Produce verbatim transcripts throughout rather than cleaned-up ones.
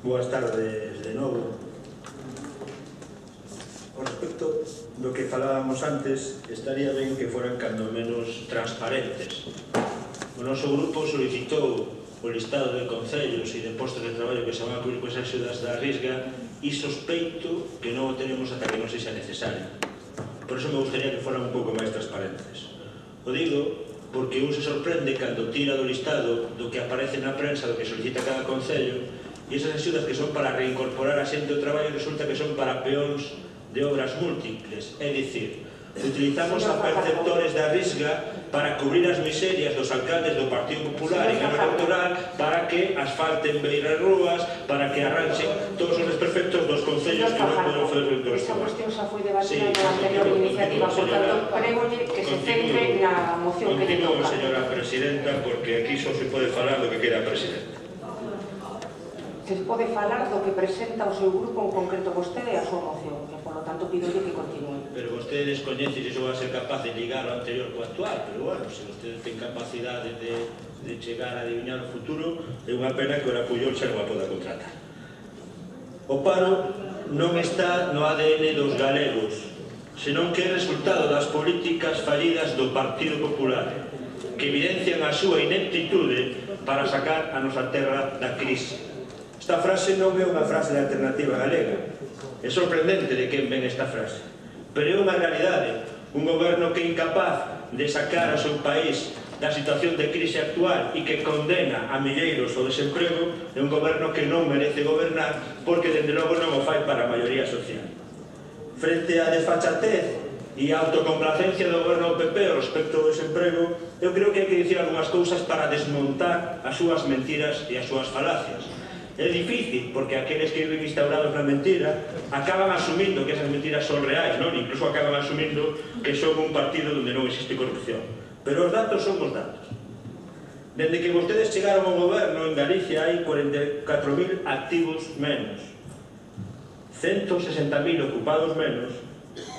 Boas tardes de novo. Con respecto do que falábamos antes, estaría ben que foran cando menos transparentes. O noso grupo solicitou o listado de concellos e de postos de traballo que se van a cubrir con esas axudas da Risga e sospeito que non o tenemos ata que non sexa necesario. Por iso me gustaría que foran un pouco máis transparentes. O digo porque un se sorprende cando tira do listado do que aparece na prensa, do que solicita cada concello, e esas axudas que son para reincorporar a xente ao traballo resulta que son para peóns de obras múltiples. É dicir, utilizamos a perceptores da Risga para cubrir as miserias dos alcaldes do Partido Popular en ano electoral, para que asfalten beiras rúas, para que arranxen todos os desperfectos dos concellos que non poden fazer o entorno. Esa cuestión xa foi debatida na anterior iniciativa, por tanto, prégolle que se centre na moción que lle toca. Continúo, señora presidenta, porque aquí só se pode falar do que quera a presidenta. Se pode falar do que presenta o seu grupo, en concreto vostede, a súa moción, e, por lo tanto, pidolle que continúe. Pero vostede descoñece se iso va a ser capaz de ligar o anterior co actual, pero, bueno, se vostede ten capacidade de, de chegar a adivinar o futuro, é unha pena que ora Puyol xa non a poda contratar. O paro non está no A D N dos galegos, senón que é resultado das políticas fallidas do Partido Popular, que evidencian a súa ineptitude para sacar a nosa terra da crise. Esta frase non é unha frase de Alternativa Galega. É sorprendente de quen ven esta frase, pero é unha realidade. Un goberno que é incapaz de sacar ao seu país da situación de crise actual e que condena a milleiros ao desemprego é un goberno que non merece gobernar, porque dende logo non o fai para a maioría social. Frente á desfachatez e a autocomplacencia do goberno do P P respecto ao desemprego, eu creo que hai que dicir algunhas cousas para desmontar as súas mentiras e as súas falacias. É difícil, porque aqueles que viven instaurados na mentira acaban asumindo que esas mentiras son reais, non? Incluso acaban asumindo que son un partido onde non existe corrupción. Pero os datos son os datos. Dende que vostedes chegaron ao goberno, en Galicia hai cuarenta e catro mil activos menos, ciento sesenta mil ocupados menos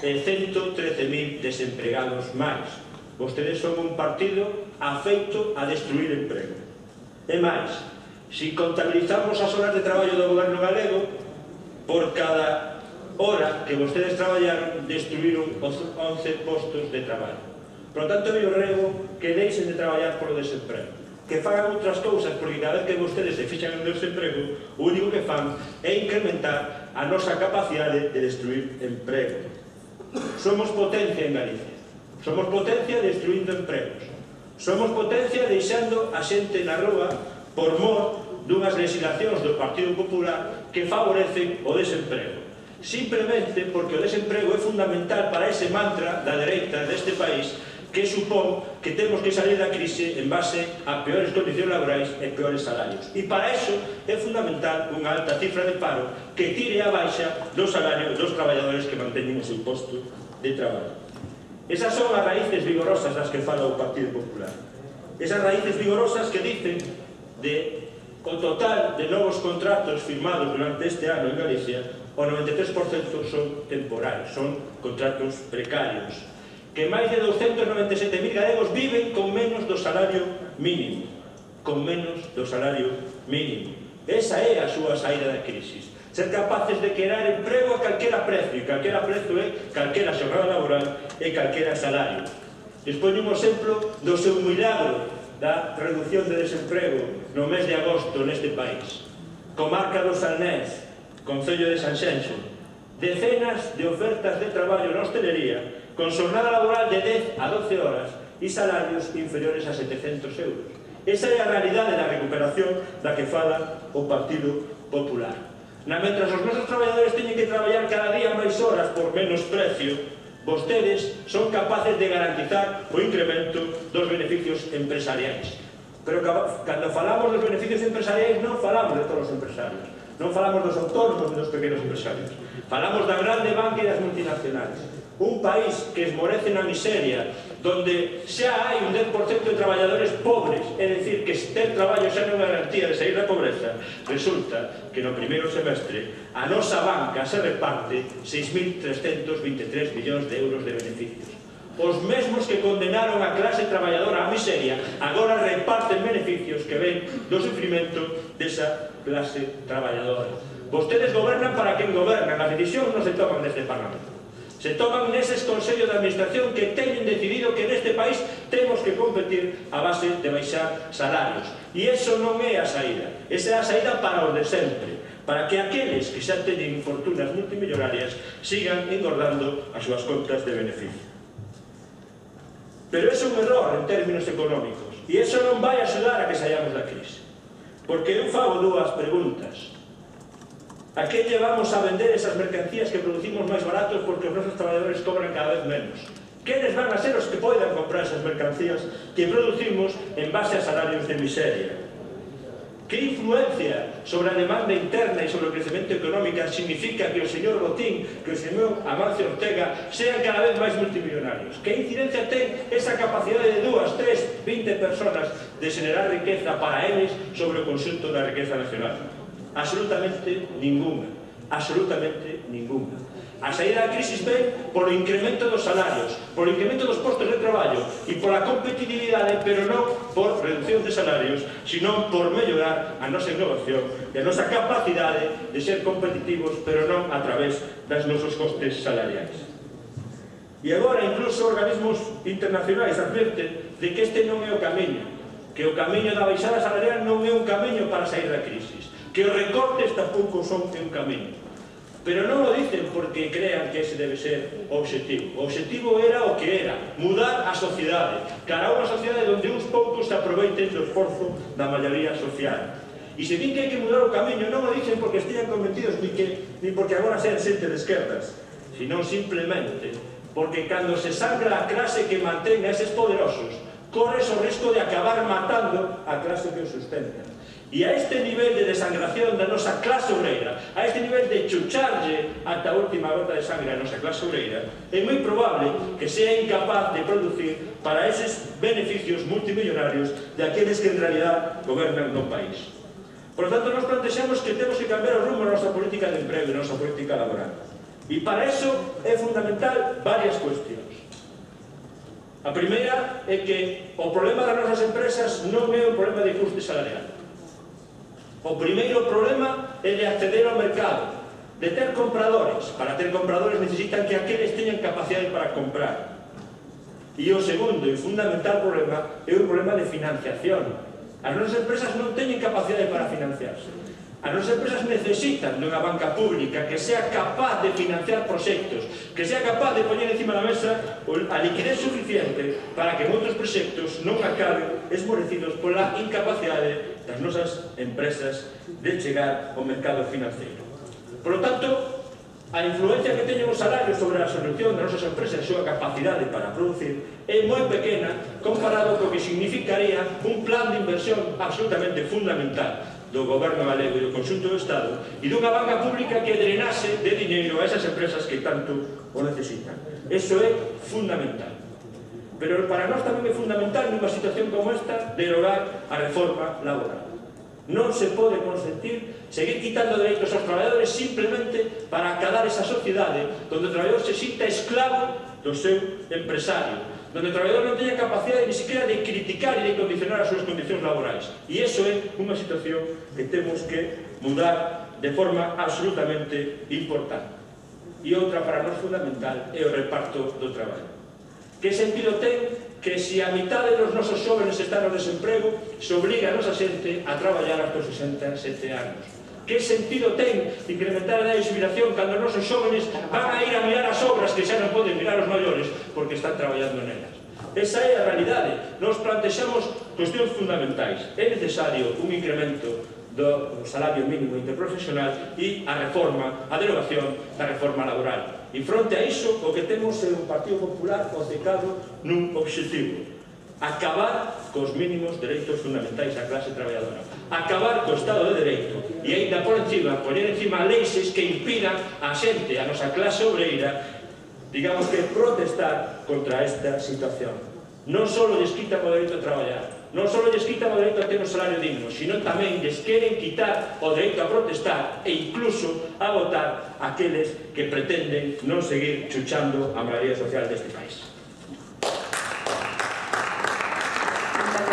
e ciento trece mil desempregados máis. Vostedes son un partido afeito a destruir emprego. E máis, se contabilizamos as horas de traballo do goberno galego, por cada hora que vostedes traballaron, destruíron once postos de traballo. Por lo tanto, eu rego que deixen de traballar polo desemprego, que fagan outras cousas, porque cada vez que vostedes se fixan en desemprego, o único que fan é incrementar a nosa capacidade de destruir emprego. Somos potencia en Galicia, somos potencia destruindo empregos, somos potencia deixando a xente na rúa por mor dunhas legislacións do Partido Popular que favorecen o desemprego. Simplemente porque o desemprego é fundamental para ese mantra da dereita deste país que supón que temos que salir da crise en base a peores condicións laborais e peores salarios. E para iso é fundamental unha alta cifra de paro que tire a baixa do salario dos traballadores que manteñen o seu posto de traballo. Esas son as raíces vigorosas das que fala o Partido Popular. Esas raíces vigorosas que dicen de o total de novos contratos firmados durante este ano en Galicia, o noventa e tres por cento son temporais, son contratos precarios, que máis de doscientos noventa e sete mil galegos viven con menos do salario mínimo, con menos do salario mínimo. Esa é a súa saída da crisis. Ser capaces de crear emprego a calquera precio, e calquera precio é calquera xornada laboral e calquera salario. Despois un exemplo do seu milagro da reducción de desemprego no mes de agosto neste país. Comarca do Salnés, Concello de Sanxenxo, decenas de ofertas de traballo na hostelería con xornada laboral de dez a doce horas e salarios inferiores a setecentos euros. Esa é a realidade da recuperación da que fala o Partido Popular. Na mentras os nosos traballadores teñen que traballar cada día máis horas por menos precio, vostedes son capaces de garantizar o incremento dos beneficios empresariais. Pero cando falamos dos beneficios empresariais non falamos de todos os empresarios, non falamos dos autónomos e dos pequenos empresarios, falamos da grande banca e das multinacionales. Un país que esmorece na miseria, donde xa hai un dez por cento de traballadores pobres, é dicir, que ter traballo xa non é garantía de sair da pobreza, resulta que no primeiro semestre a nosa banca se reparte seis mil trescentos vinte e tres millóns de euros de beneficios. Os mesmos que condenaron a clase traballadora á miseria agora reparten beneficios que ven do sufrimento desa clase traballadora. Vostedes gobernan para quen gobernan, as decisións non se toman neste Parlamento. Se toman neses consellos de administración que teñen decidido que neste país temos que competir a base de baixar salarios. E iso non é a saída. Esa é a saída para os de sempre, para que aqueles que xa teñen fortunas multimillonarias sigan engordando as súas contas de beneficio. Pero é un error en términos económicos e iso non vai axudar a que saíamos da crise. Porque eu fago dúas preguntas. A que llevamos a vender esas mercancías que producimos máis baratos porque os nosos traballadores cobran cada vez menos? Quenes van a ser os que poidan comprar esas mercancías que producimos en base a salarios de miseria? Que influencia sobre a demanda interna e sobre o crecemento económico significa que o señor Botín, que o señor Amancio Ortega sean cada vez máis multimillonarios? Que incidencia ten esa capacidade de dúas, tres, vinte personas de xenerar riqueza para eles sobre o conxunto da riqueza nacional? Absolutamente ninguna. Absolutamente ninguna. A saída da crisis ven polo incremento dos salarios, polo incremento dos postos de traballo e pola competitividade, pero non por reducción de salarios, sino por mellorar a nosa innovación e a nosa capacidade de ser competitivos, pero non a través das nosos costes salariais. E agora, incluso, organismos internacionais adverten de que este non é o camiño, que o camiño da baixada salarial non é un camiño para sair da crisis, que os recortes tampouco son un camiño. Pero non o dicen porque crean que ese debe ser o obxectivo. O obxectivo era o que era, mudar a sociedade, cara a unha sociedade onde uns poucos se aproveiten do esforzo da maioría social. E se din que hai que mudar o camiño, non o dicen porque estean convencidos ni, que, ni porque agora sean xente de esquerdas, sino simplemente porque cando se sangra a clase que mantén a eses poderosos, corres o risco de acabar matando a clase que os sustenta. E a este nivel de desangración da nosa clase obreira, a este nivel de chucharlle ata a última gota de sangre a nosa clase obreira, é moi probable que sea incapaz de producir para eses beneficios multimillonarios de aqueles que en realidad gobernan no país. Por lo tanto, nos plantexamos que temos que cambiar o rumbo da nosa política de emprego e da nosa política laboral. E para iso é fundamental varias cuestións. A primeira é que o problema das nosas empresas non é un problema de custe salarial. O primeiro problema é de acceder ao mercado, de ter compradores. Para ter compradores necesitan que aqueles teñan capacidade para comprar. E o segundo e fundamental problema é un problema de financiación. As nosas empresas non teñen capacidade para financiarse. As nosas empresas necesitan dunha banca pública que sea capaz de financiar proxectos, que sea capaz de poñer encima da mesa a liquidez suficiente para que moitos proxectos non acaben esmorecidos pola incapacidade das nosas empresas de chegar ao mercado financeiro. Por lo tanto, a influencia que teñen os salarios sobre a solución das nosas empresas e a súa capacidade para producir é moi pequena comparado co que significaría un plan de inversión absolutamente fundamental do goberno galego e do conxunto do Estado e dunha banca pública que drenase de diñeiro a esas empresas que tanto o necesitan. Eso é fundamental. Pero para nós tamén é fundamental nunha situación como esta derogar a reforma laboral. Non se pode consentir seguir quitando dereitos aos traballadores simplemente para acadar esa sociedade onde o traballador se sinta esclavo do seu empresario, onde o traballador non teña capacidade ni siquiera de criticar e de condicionar as súas condicións laborais. E iso é unha situación que temos que mudar de forma absolutamente importante. E outra para nós fundamental é o reparto do traballo. Que sentido ten que se a mitade dos nosos xóvenes están no desemprego se obliga a nosa xente a traballar hasta os sesenta e sete anos? Que sentido ten incrementar a edade de xubilación cando os nosos xóvenes van a ir a mirar as obras que xa non poden mirar os maiores porque están traballando nelas? Esa é a realidade. Nos plantexamos cuestións fundamentais. É necesario un incremento do salario mínimo interprofesional e a reforma, a derogación da reforma laboral. E fronte a iso, o que temos é un Partido Popular obcecado nun obxectivo: acabar cos mínimos dereitos fundamentais da clase traballadora, acabar co Estado de Dereito e ainda por encima, poñer encima leixes que impidan a xente, a nosa clase obreira, digamos que protestar contra esta situación. Non só lles quitan o dereito a traballar, non só lles quitan o dereito a ter un salario digno, sino tamén lles queren quitar o dereito a protestar e incluso a votar aqueles que pretenden non seguir chuchando a maioría social deste país.